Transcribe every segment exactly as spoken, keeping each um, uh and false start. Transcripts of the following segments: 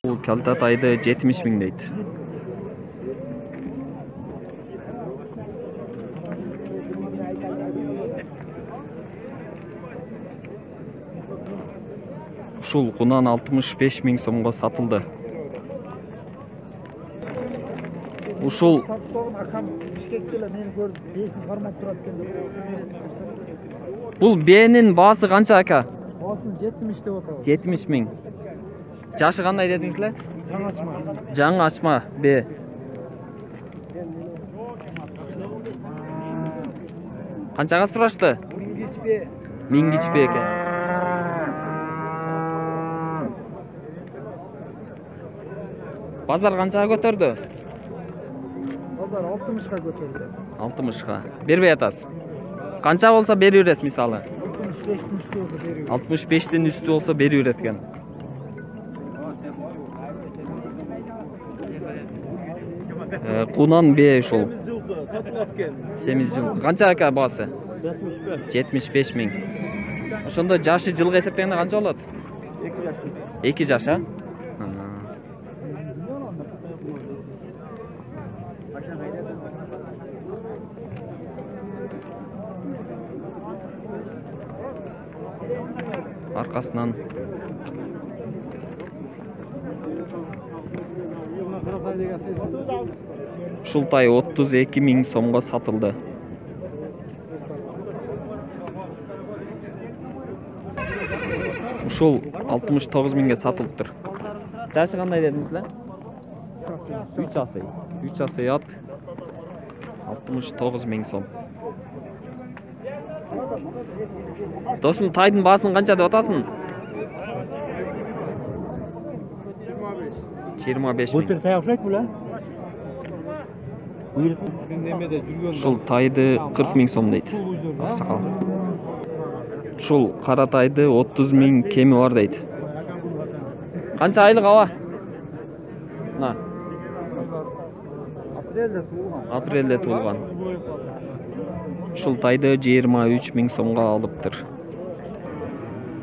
Бул Калтатайды жетимиш миң дейт. Ушул кунан алтымыш беш миң сомго сатылды. Ушул Бул Б'нин баасы канча ака? Баасын жетимиш деп атабыз. жетимиш миң. Жашы кандай дедиңиз? Жаңы ачма. Жаңы ачма Б. Канчага сурашты? Миңгич Б. Миңгич Б экен. Базар канчага көтөрдү? Базар алтымышка көтөрдү. алтымышка. Бербей атасыз. Канча болсо берип бересиз мисалы? алтымыш бештин үстү болсо берип алтымыш бештин үстү болсо берип берет экен. Э, Кунан Б ушул. семиз жыл. Канча ака баасы? жетимиш беш миң. Ошондо жашы жылга эсептегенде канча болот? эки жаш, а? Аркасынан ушул тай отуз эки миң сомго сатылды. Ушул алтымыш тогуз миңге сатылыптыр. Жашы кандай дедиңиз? үч асый. үч асый ат алтымыш тогуз миң сом. Досум, тайдын баасын канча деп атасың? жыйырма беш миң. Бутыр тай окшойт беле? Ушул тайды кырк миң сом дейт. Аксакал. Ушул кара тайды отуз миң кеми бар дейт. Канча айлык аба? Мына. Апрелде туулган. Апрелде туулган. Ушул тайды жыйырма үч миң сомго алыптыр.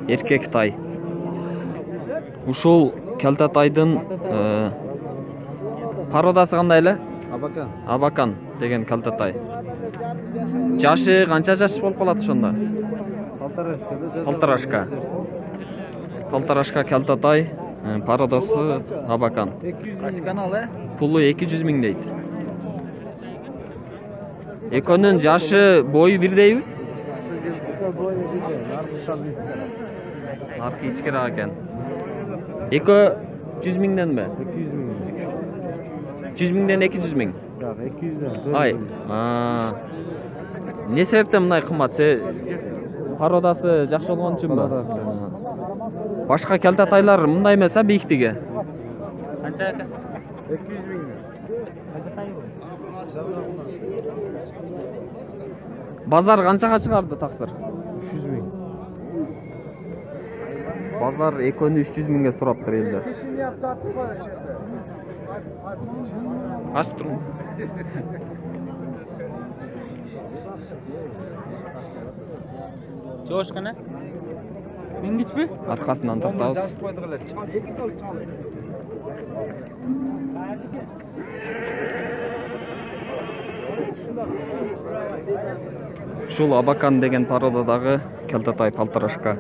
Эркек тай. Ушул Калтатайдын пародасы кандай эле? Абакан. Абакан деген Калтатай. Жашы канча жаш болуп калат ошондо? Полторашка. Полторашка. Полторашка Калтатай, пародасы Абакан. Качы канал, э? Пулу эки жүз миң дейт. Экөөнүн жашы, бою бирдейби? Аркы ичкераак экен. Экөө жүз миңден бе? эки жүз миң. жүз миңден эки жүз миң. Жак, эки жүздөн. Ай. А. Не себептен мындай кымбат? Се пародасы жакшы болгон үчүнбү? Башка Калтатайлар мындай эмес, а, бийиктиги? Канча экен? эки жүз миң. Базар канчага чыгарды таксыр? үч жүз миң. Базар экөөнү үч жүз миңге сураптыр элдер. Ачып турмун. Жоошкана? Миңгичпи? Аркасынан тартабыз. Ушул Абакан деген пародадагы Калтатай полторашка.